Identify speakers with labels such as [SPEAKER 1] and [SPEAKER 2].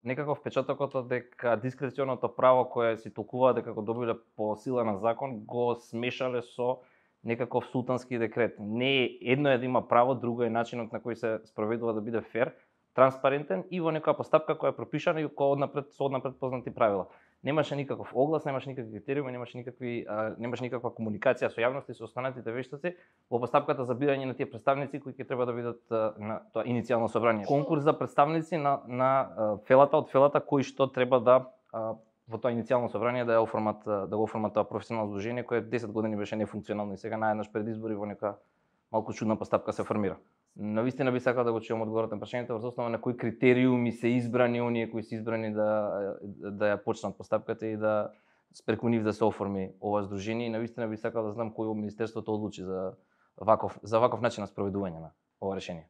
[SPEAKER 1] некако впечатокот дека дискреционото право кое си толкува дека го добиле по сила на закон го смешале со некаков султански декрет. Не е едно е да има право, друго е начинот на кој се спроведува да биде фер, транспарентен и во некоја постапка која е пропишана и која со однапред познати правила. Немаше никаков оглас, немаше никакви критериуми, немаше никаква комуникација со јавноста и со останатите вештаци во постапката за бирање на тие представници кои ќе треба да бидат на тоа иницијално собрание. Конкурс за представници на фелата од фелата кои што треба да во тоа иницијално собрание да го оформат тоа професионално здружение кое 10 години беше нефункционално и сега наеднаш пред избори во нека малку чудна постапка се формира. Навистина би сакал да го чуам одговорот на прашањето врз основа на кои критериуми се избрани оние кои се избрани да ја почнат постапката и да преку нив да се оформи ова здружение и навистина би сакал да знам кој во министерството одлучи за ваков начин на спроведување на ова решение.